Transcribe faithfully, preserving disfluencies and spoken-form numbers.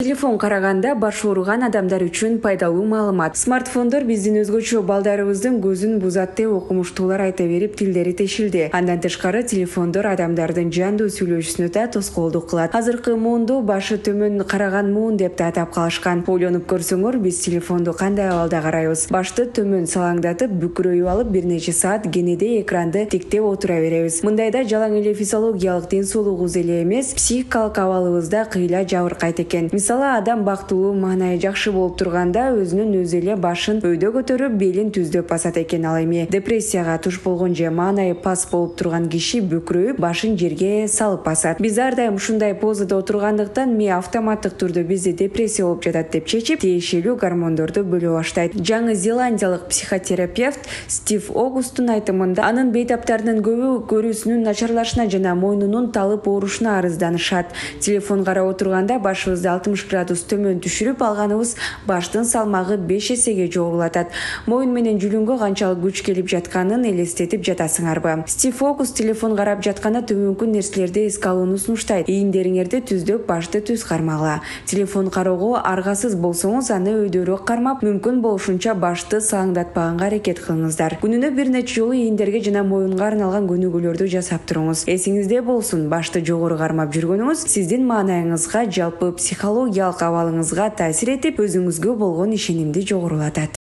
Телефон караганда баш ооруган адамдар үчүн пайдалуу маалымат. Смартфондор биздин өзгөчө балдарыбыздын көзүн бузат деп окумуштуулар айта берип тилдери тешилди. Андан тышкары телефондор адамдардын жандуу сүйлөшүүсүнө да тоскоолдук кылат. Азыркы муунду башы төмөн караган муун деп да атап калышкан. Ойлонуп көрсөңөр, биз телефонду кандай абалда карайбыз? Башты төмөн салаңдатып, бүкүрөйүп алып бир нече саат кенеде экранды тиктеп отура беребиз. Мындайда жалаң эле физиологиялык ден соолугубуз эле эмес, психикалык абалыбыз да кыйла жабыркайт экен. Мисалы, адам бактылуу, маанайы жакшы болуп турганда өзүнүн өзү эле башын өйдө көтөрүп, белин түздөп басат экен. Ал эми депрессияга туш болгон же маанайы пас болуп турган киши бүкүрөйүп, башын жерге салып басат. Биз ар дайым ушундай позада отургандыктан ми автоматтык түрдө бизде депрессия болуп жатат деп чечип, тиешелүү гормондорду бөлө баштайт. Жаңы Зеландиялык психотерапевт Стив Огусттун айтымында, анын бейтаптарынын көбү көрүүсүнүн начарлашына жана мойнунун талып оорушуна арызданышат. Телефон карап отурганда башыбызды алтымыш градус төмөн түшүрүп алганыбыз баштын салмагы беш эсеге жогорулатат. Моюн менен жүлүнгө канчалык күч келип жатканын элестетип жатасыңарбы? Стив Огуст телефон карап жатканда төмөнкү нерселерди эске алууну сунуштайт. Ийиндериңерди түздөп, башты түз кармагыла. Телефон кароого аргасыз болсоңуз, аны өйдөрөөк кармап, мүмкүн болушунча башты салаңдатпаганга аракет кылыңыздар. Күнүнө бир нече жолу ийиндерге жана моюнга арналган көнүгүүлөрдү жасап туруңуз. Эсиңизде болсун, башты жогору кармап жүргөнүңүз сиздин маанайыңызга, жалпы психологиялык абалыңызга таасир этип, өзүңүзгө болгон ишенимди жогорулатат.